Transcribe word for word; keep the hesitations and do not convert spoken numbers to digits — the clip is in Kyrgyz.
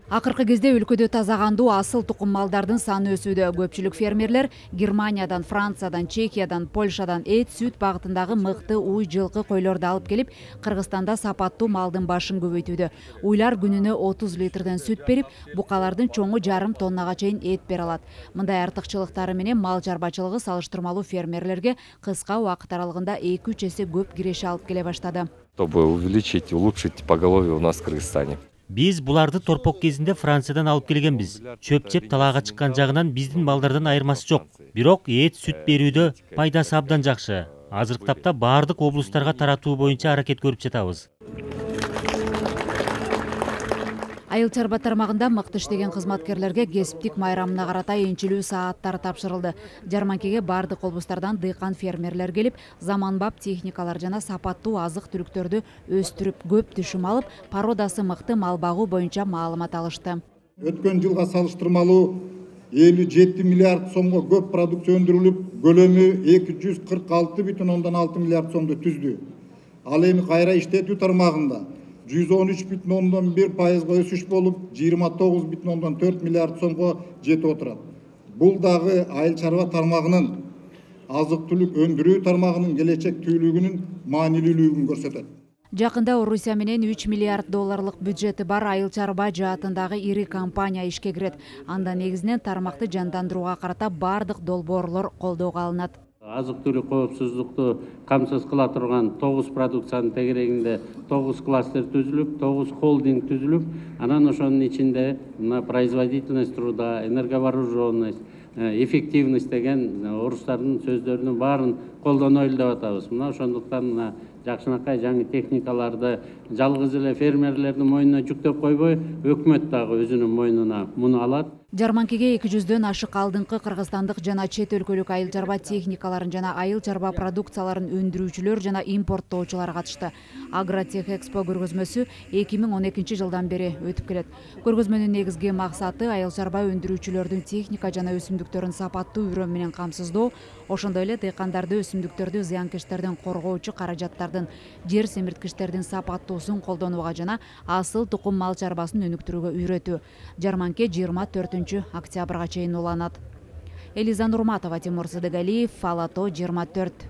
Акыркы кезде өлкөдө таза кандуу асыл тукум малдардын саны өсүүдө. Көпчүлүк фермерлер Германиядан, Франциядан, Чехиядан, Польшадан эт, сүт багытындагы мыкты уй, жылкы койлорду алып келип, Кыргызстанда сапаттуу малдын башын көбөйтүүдө. Уйлар күнүнө отуз литрден сүт берип, букалардын чоңу жарым тоннага чейин эт бере алат. Мындай артыкчылыктары менен мал чарбачылыгы салыштырмалуу фермерлерге кыска убакыт аралыгында эки үч эсе көп киреше алып келе баштады. Чтобы увеличить, улучшить поголовье у нас в Кыргызстане. Биз буларды торпок кезинде Франциядан алып келгенбиз. Чөп жеп талаага чыккан жагынан биздин балдардан айырмасы жок. Бирок эт, сүт берүүдө пайдасы абдан жакшы. Азыркы тапта баардык облустарга таратуу боюнча аракет көрүп жатабыз. Айыл чарба тармагында мыкты иштеген кызматкерлерге кесиптик майрамына карата энчилүү сааттар тапшырылды. Жарманкеге бардык облустардан дыйкан фермерлер келип, заманбап техникалар жана сапаттуу азык-түлүктөрдү өстүрүп, көп түшүм алып, породасы мыкты мал багуу боюнча маалымат алышты. Өткөн жылга салыштырмалуу элүү жети миллиард сомго көп продукция өндүрүлүп, көлөмү эки жүз кырк алты бүтүн ондон алты миллиард сомду түздү. Ал эми кайра иштетүү тармагында жүз он үч бүтүн ондон бир пайызга өсүш болуп, жыйырма тогуз бүтүн ондон төрт миллиард сомго жетип отурат. Бул дагы айыл чарба тармагынын, азык-түлүк өндүрүү тармагынын келечектүүлүгүнүн маанилүүлүгүн көрсөтөт. Жакында Орусия менен үч миллиард долларлык бюджети бар айыл чарба жаатындагы ири компания ишке кирет. Анда негизинен тармакты жандандырууга карата бардык долбоорлор колдоого алынат. Азык-түлүк коопсуздукту камсыз кыла турган тогуз продукциянын тегерегинде тогуз кластер түзүлүп, тогуз холдинг түзүлүп, анан ошонун ичинде мына производительность труда, энерговооруженность, эффективность деген орустардын сөздөрүнүн баарын колдонойлу деп атабыз. Мына ошондуктан мына жакшынакай жаңы техникаларды жалгыз эле фермерлердин мойнуна жүктөп койбой, өкмөт дагы өзүнүн мойнуна муну алат. Жарманкеге эки жүздөн ашык алдыңкы кыргызстандык жана чет өлкөлүк айыл чарба техникаларын жана айыл чарба продукцияларын өндүрүүчүлөр жана импорттоочулар катышты. Агротех Экспо көргөзмөсү эки миң он экинчи жылдан бери өтүп келет. Көргөзмөнүн негизги максаты айыл чарба өндүрүүчүлөрдүн техника жана өсүмдүктөрүн сапаттуу үрөм менен камсыздоо, ошондой эле дыйкандарды өсүмдүктөрдү зыянкечтерден коргоочу каражаттардын, жер семирткичтердин сапаттуусун колдонууга жана асыл тукум мал чарбасын өнүктүрүүгө үйрөтүү. Жарманке жыйырма төртүнчү октябрга чейин уланат. Элиза Нурматова, Тимур Сыдыгалиев, Ала тоо жыйырма төрт.